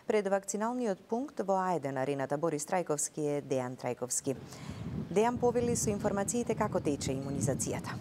Пред вакциналниот пункт во Ајде на арената Борис Трајковски е Дејан Трајковски. Дејан повели со информациите како тече имунизацијата.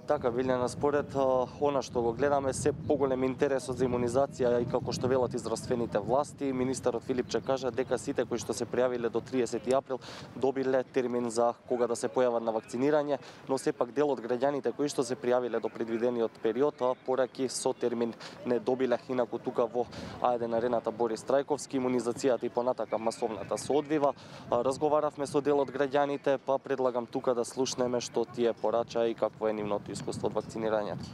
Така, Билјана, според она што го гледаме, се поголем интересот за имунизација и како што велат и здравствените власти, министерот Филипче кажа дека сите кои што се пријавиле до 30 април добиле термин за кога да се појават на вакцинирање, но сепак дел од граѓаните кои што се пријавиле до предвидениот период, пораки со термин не добиле. Инаку тука во Ајде на арената Борис Трајковски имунизацијата и понатака масовната се одвива. Разговаравме со дел од граѓаните, па предлагам тука да слушнеме што тие порача и какво е нивното искуство од вакцинирањето.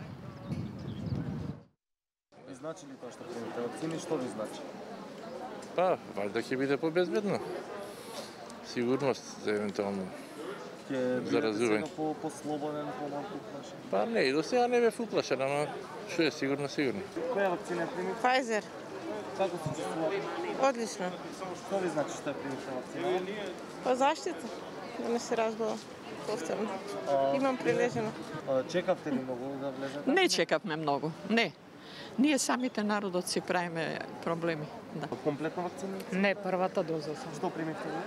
Ви значи ли тоа што примите вакцини, што ви значи? Па, вајда ќе биде побезбедно. Сигурност за евентуално заразување. Ќе бидете по-слободен, по-малку уплашен? Па не, и до сега не бев уплашен, ама што е сигурно. Која вакцина примите? Pfizer. Како се чувствувате? Одлично. Што ви значи што примите вакцина? Па заштита, да не се разбола повторно. Имам прилежено. Чекавте ли многу да влезете? Не чекавме многу, не. Ние самите народот си правиме проблеми. Да. Комплетно вакцина? Не, првата доза сам. Што примите ви?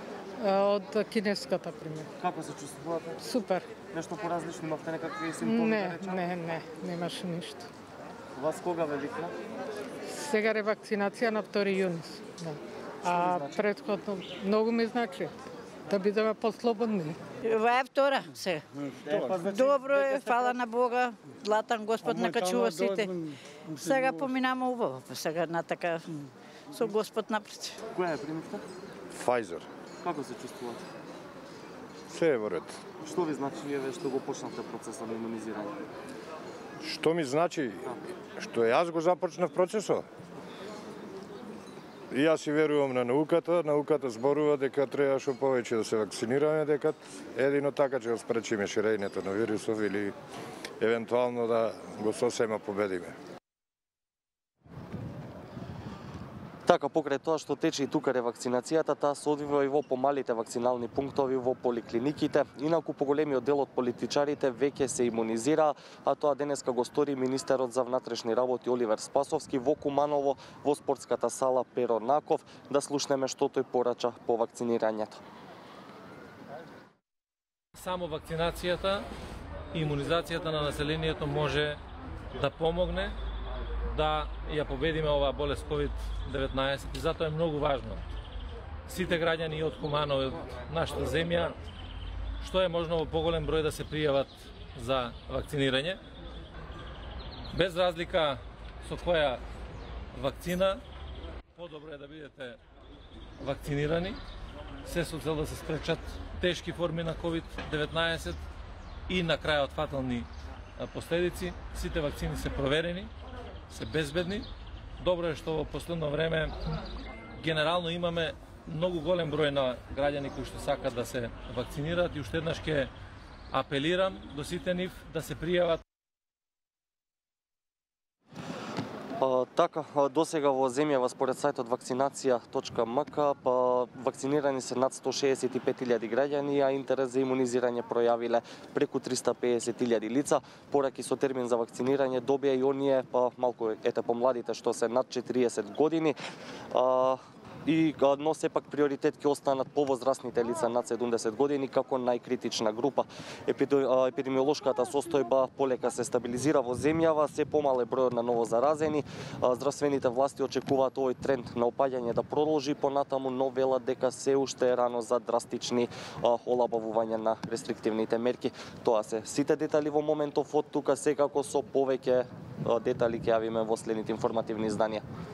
Од кинеската пример. Како се чувствувате? Супер. Нешто поразлично, имавте некакви симптоми? Не, немаше ништо. Вас кога ве викна? Сега ревакцинација на 2 јуни. Да. А претходно многу ми значи да бидеме послободни. Ова е втора сега. Добро е, фала на Бога, длатан Господ накачува сите. Сега поминаме убаво, сега натака со Господ напред. Која е примите? Pfizer. Како се чувствувате? Се е во ред. Што ви значи вие што го почнавте процесот на имунизирање? Што ми значи? Што јас го започнав процесот? И јас си верувам на науката. Науката зборува дека треба што повеќе да се вакцинираме, дека едино така ќе го спречиме ширењето на вирусов или евентуално да го сосема победиме. Така, покрај тоа што тече и тука ревакцинацијата, таа се одвива и во помалите вакцинални пунктови во поликлиниките. Инаку поголемиот дел од политичарите веќе се имунизира, а тоа денеска го стори министерот за внатрешни работи Оливер Спасовски во Куманово во спортската сала Перо Наков. Да слушнеме што тој порача по вакцинирањето. Само вакцинацијата и имунизацијата на населението може да помогне да ја победиме оваа болест COVID-19 и затоа е многу важно сите граѓани од Куманово, од нашата земја, што е можно во поголем број да се пријават за вакцинирање. Без разлика со која вакцина, подобро е да бидете вакцинирани, се со цел да се спречат тешки форми на COVID-19 и на крајот фатални последици. Сите вакцини се проверени, се безбедни. Добро е што во последно време генерално имаме многу голем број на граѓани кои што сакат да се вакцинираат и уште еднаш ќе апелирам до сите нив да се пријават. Така, досега во земјава според сајтот вакцинација.мк вакцинирани се над 165.000 граѓани, а интерес за имунизирање пројавиле преку 350.000 лица. Пораки со термин за вакцинирање добија и оние малку помладите што се над 40 години. Но сепак приоритет ќе останат повозрастните лица над 70 години како најкритична група. Епидемиолошката состојба полека се стабилизира во земјава, се помал е бројот на новозаразени. Здравствените власти очекуваат овој тренд на опаѓање да продолжи понатаму, но велат дека се уште е рано за драстични олабавувања на рестриктивните мерки. Тоа се сите детали во моментов од тука, секако со повеќе детали ќе јавиме во следните информативни изданија.